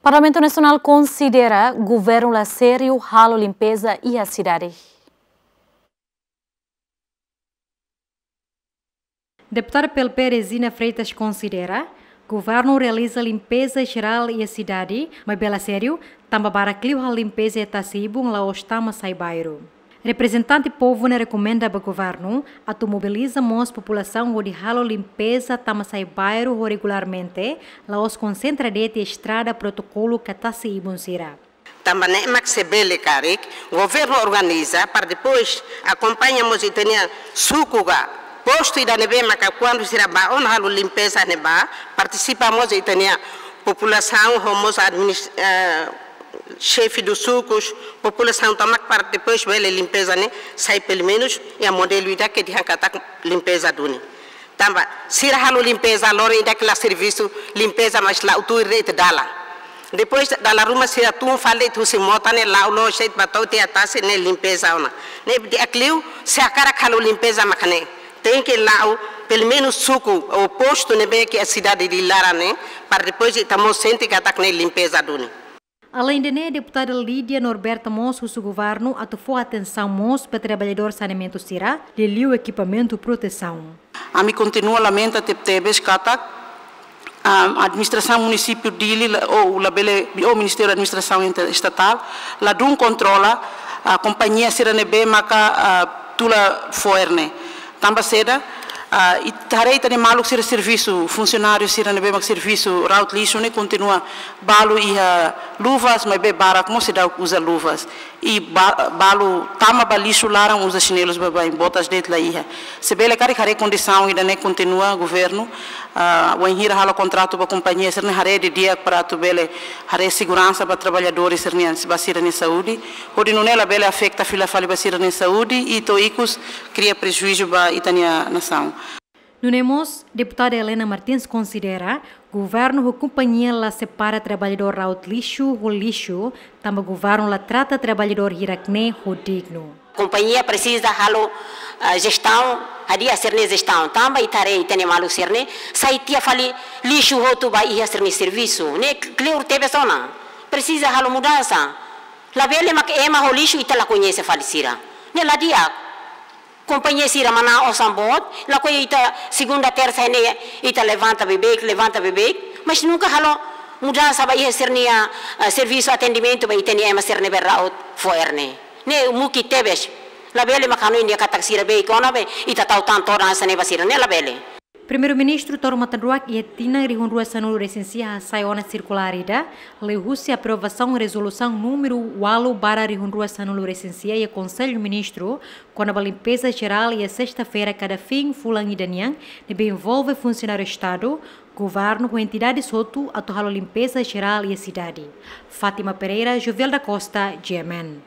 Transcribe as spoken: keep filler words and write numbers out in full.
Parlamentu Nasionál konsidera governu la sériu halo limpeza iha sidade. Deputada P L P Regina Freitas konsidera governu realiza limpeza jerál iha sidade, maibé la sériu, tanba barak liu halo limpeza iha tasi-ibun la'ós tama sai bairru. Reprezentante povu ne'e rekomenda ba governu atu mobiliza mós populasaun hodi halo limpeza tama sai bairru ho regularmente, la'ós konsentra de'it iha estrada, protokolu ka tasi-ibun sira. Tanba ne'e mak se bele karik governu organiza para depois akompaña mós ita-nia suku ka postu ida ne'ebé maka kuandu sira bá ona halo limpeza ne'ebá, partisipa mós ita-nia populasaun ho mós adminis-, eh, xefe dos sukus, populasaun tomak para depois bele limpeza ne'e sai pelumenus iha modelu ida ke dehan katak limpeza duni. Tanba sira halo limpeza loron ida ke la servisu limpeza, mas la'o tuir de'it dalan. Depois dala ruma sira tun fali de'it husi mota ne'e la'o loos de'it ba to'o tiha tasi ne'e limpeza ona. Ne'e di'ak liu, se hakarak halo limpeza mak ne'e, tenke la'o pelumenus suku ou postu ne'ebé ke iha sidade nia laran ne'e, para depois ita mós sente katak ne'e limpeza duni. Aleinde ne'e, deputada Lídia Norberta mós husu governu atu fó atensaun mós ba traballadór saneamentu sira, liuliu ekipamentu protesaun. Ami kontinua lamenta tebetebes katak, ah, administrasaun munisípiu Dili la, ou labele, ou Ministériu Administrasaun Inter-, Estatál, ladún kontrola, ah, kompañia sira ne'ebé maka, ah, tula fo'er ne'e. Tanba saida, ah, ita haree ita-nia maluk sira servisu, funsionáriu sira ne'ebé mak servisu ra'ut lixu ne'e kontinua balu iha luvas, maibé barak mós seidauk uza luvas. I ba-, balu tama ba lixu laran uza xinelus baibain, botas de'it la iha. Se bele karik haree kondisaun ida-ne'e kontinua governu, ah, wainhira halo kontratu ba kompañia sira-ne'e haree didi'ak para atu bele haree seguransa ba traballadór sira-nian, ba sira-nia saúde. Hodi nune'e labele afeta fila fali ba sira-nia saúde i to'o ikus kria prejuízu ba ita-nia nasaun. Nune'e mós, deputada Helena Martins konsidera governu ho kompañia la separa traballadór ra'ut lixu ho lixu, tanba governu la trata traballadór hirak-ne'e ho dignu. Kompañia presiza halo, ah, jestaun, hadi'a sira-nia jestaun. Tanba ita haree ita-nia maluk sira-ne'e sai tiha fali lixu hotu ba iha sira-nia servisu. Ne'e kleur tebes ona. Presiza halo mudansa. Labele mak ema ho lixu ita la koñese fali sira. Ne'e la di'ak. Kompañia sira manán osan boot, lakohi ita segunda, tersa ne'e ita levanta beibeik, levanta beibeik, mas nunka halo mudansa ba iha sira-nia, eh, servisu atendimentu ba ita-nia ema sira ne'ebé ra'ut fo'er ne'e. Ne'e mukit tebes. Labele mak hanoin dehan katak sira beik ona be ita tau tan todan hanesan ne'e ba sira, ne'e labele. Primeiru-Ministru Toro Matan Ruak iha tinan rihun rua sanulu resin sia hasai ona sirkulár ida, liuhusi aprovasaun rezolusaun númeru ualu barra rihun rua sanulu resin sia iha Konsellu Ministru, kona-ba limpeza jerál iha sesta-feira kada fin fulan ida nian, ne'ebé envolve funsionáriu Estadu, governu ho entidades hotu atu halo limpeza jerál iha sidade. Fátima Pereira, Jovel da Costa, G M N.